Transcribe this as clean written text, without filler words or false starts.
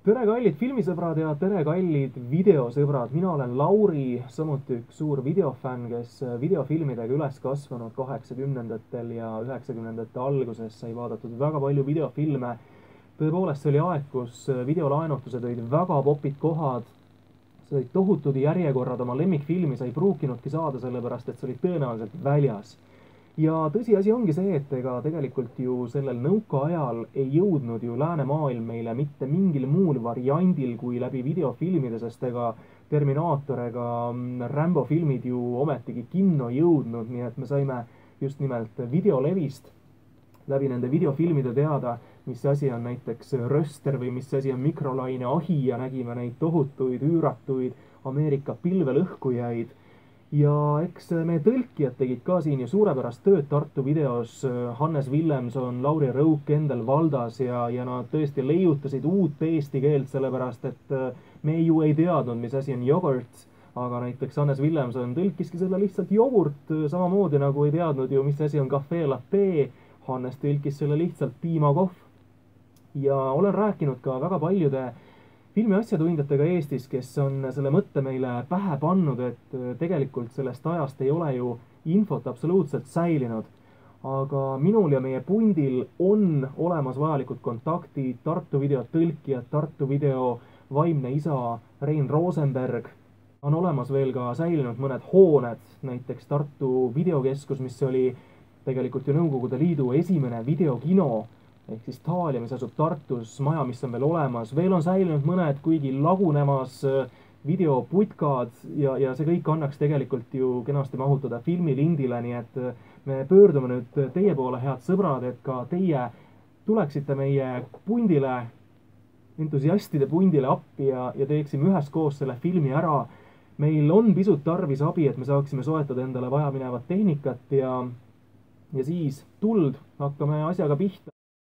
tere kallid filmisõbrad ja tere kallid videosõbrad, mina olen Lauri, samuti üks suur videofänn, kes videofilmidega üles kasvanud 80-ndatel ja 90-ndate alguses sai vaadatud väga palju videofilme. Tõepoolest, see oli aeg, kus videolaenutused olid väga popid kohad, see olid tohutud järjekorrad, oma lemmikfilmi sa ei pruukinudki saada, sellepärast et see oli tõenäoliselt väljas. Ja tõsiasi ongi see, et ega tegelikult ju sellel nõukaajal ei jõudnud ju läänemaailm meile mitte mingil muul variandil kui läbi videofilmide, sest ega Terminaator ega Rambo filmid ju ometigi kinno jõudnud, nii et me saime just nimelt videolevist läbi nende videofilmide teada, mis asi on näiteks röster või mis asi on mikrolaine ahi ja nägime neid tohutuid üüratuid Ameerika pilvelõhkujaid. Ja eks meie tõlkijad tegid ka siin ju suurepärast tööd Tartu videos, Hannes Villemson, Lauri Rõuk, Kendel Valdas ja nad tõesti leiutasid uut eesti keelt, sellepärast et me ju ei teadnud, mis asi on jogurt, aga näiteks Hannes Villemson tõlkiski selle lihtsalt jogurt, samamoodi nagu ei teadnud ju, mis asi on cafe latte, Hannes tõlkis selle lihtsalt piimakohv. Ja olen rääkinud ka väga paljude filmiasjatundjatega Eestis, kes on selle mõtte meile pähe pannud, et tegelikult sellest ajast ei ole ju infot absoluutselt säilinud. Aga minul ja meie pundil on olemas vajalikud kontaktid, Tartu video tõlkijad, Tartu video vaimne isa Rein Rosenberg. On olemas veel ka säilinud mõned hooned, näiteks Tartu videokeskus, mis oli tegelikult ju Nõukogude Liidu esimene videokino, ehk siis Taalia, mis asub Tartus, maja, mis on veel on säilinud mõned, kuigi lagunemas videoputkad ja see kõik annaks tegelikult ju kenasti mahutada filmilindile, nii et me pöördume nüüd teie poole, head sõbrad, et ka teie tuleksite meie pundile, entusiastide pundile appi ja teeksime üheskoos selle filmi ära. Meil on pisut tarvis abi, et me saaksime soetada endale vajaminevat tehnikat ja siis tuld hakkame asjaga pihta.